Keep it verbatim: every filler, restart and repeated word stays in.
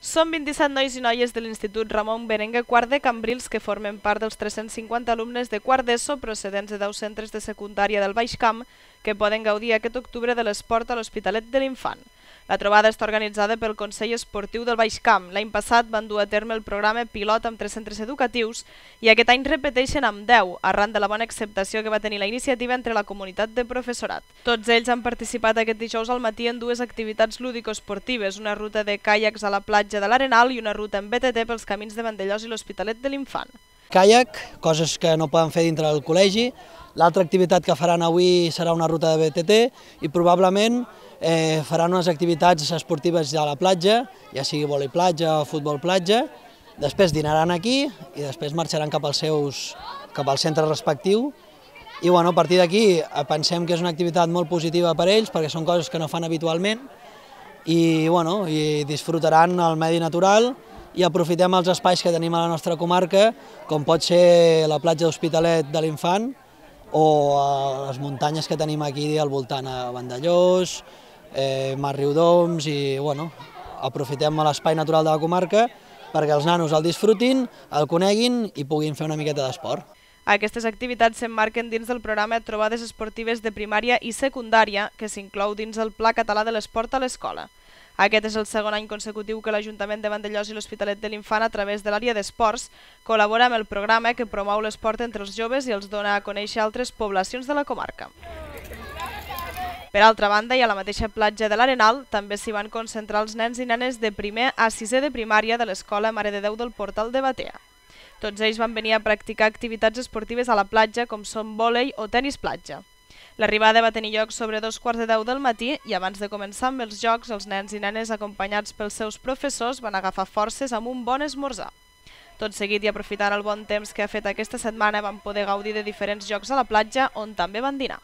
Són vint-i-set nois i noies de l'Institut Ramon Berenguer quart de Cambrils que formen part dels tres-cents cinquanta alumnes de quart d'ESO procedents de deu centres de secundària del Baix Camp que poden gaudir aquest octubre de l'esport a l'Hospitalet de l'Infant. La trobada està organitzada pel Consell Esportiu del Baix Camp. L'any passat van dur a terme el programa pilot amb tres centres educatius i aquest any repeteixen amb deu, arran de la bona acceptació que va tenir la iniciativa entre la comunitat de professorat. Tots ells han participat aquest dijous al matí en dues activitats lúdico-esportives, una ruta de caiacs a la platja de l'Arenal i una ruta en B T T pels camins de Vandellòs i l'Hospitalet de l'Infant. Caiac, coses que no poden fer dintre del col·legi. L'altra activitat que faran avui serà una ruta de B T T i probablement eh, faran unes activitats esportives a la platja, ja sigui vòlei platja o futbol platja. Després dinaran aquí i després marxaran cap als seus, cap al centre respectiu. I bueno, a partir d'aquí pensem que és una activitat molt positiva per a ells perquè són coses que no fan habitualment i, bueno, i disfrutaran el medi natural i aprofitem els espais que tenim a la nostra comarca, com pot ser la platja d'Hospitalet de l'Infant o les muntanyes que tenim aquí al voltant a Vandellòs, eh, Mas Riudoms i bueno, aprofitem l'espai natural de la comarca perquè els nanos el disfrutin, el coneguin i puguin fer una miqueta d'esport. Aquestes activitats s'emmarquen dins del programa Trobades Esportives de Primària i Secundària que s'inclou dins el Pla Català de l'Esport a l'Escola. Aquest és el segon any consecutiu que l'Ajuntament de Vandellòs i l'Hospitalet de l'Infant, a través de l'àrea d'esports, col·labora amb el programa que promou l'esport entre els joves i els dona a conèixer altres poblacions de la comarca. Per altra banda, i a la mateixa platja de l'Arenal, també s'hi van concentrar els nens i nenes de primer a sisè de primària de l'Escola Mare de Déu del Portal de Batea. Tots ells van venir a practicar activitats esportives a la platja, com són vòlei o tenis platja. L'arribada va tenir lloc sobre dos quarts de deu del matí i abans de començar amb els jocs, els nens i nenes acompanyats pels seus professors van agafar forces amb un bon esmorzar. Tot seguit i aprofitant el bon temps que ha fet aquesta setmana van poder gaudir de diferents jocs a la platja on també van dinar.